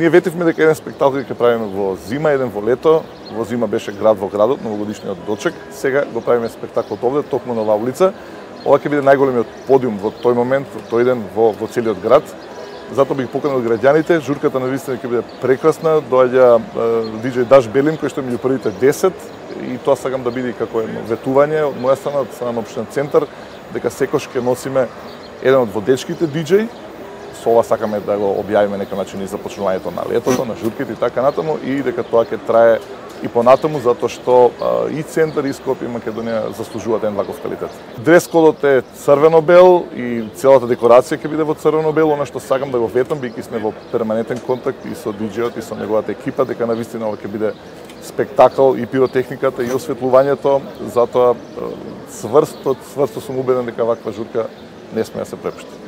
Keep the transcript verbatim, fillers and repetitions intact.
Ние ветивме дека еден спектакл ќе правиме во зима, еден во лето. Во зима беше Град во градот, новогодишниот дочек. Сега го правиме спектаклот овде, токму на оваа улица. Ова ќе биде најголемиот подиум во тој момент, во тој ден во, во целиот град. Затоа бих поканил граѓаните. Журката навистина ќе биде прекрасна. Доаѓа диџеј Даш Белин, кој што е меѓу првите десет, и тоа сакам да биде како едно ветување од моја страна, од страна на општинен центар, дека секош ќе носиме еден од водечките диџеј. Со ова сакаме да го објавиме некој начин и започнувањето на летото, на журките и така натаму, и дека тоа ќе трае и понатаму, затоа што а, и центар и Скопје и Македонија заслужуваат еден ваков квалитет. Дрес-кодот е црвено-бел и целата декорација ќе биде во црвено-бел. Она што сакам да го ветам, бидејќи сме во перманентен контакт и со диџејот и со неговата екипа, дека навистина ова ќе биде спектакл и пиротехниката и осветлувањето. Затоа цврсто, цврсто сум убеден дека ваква журка не сме да се препушти.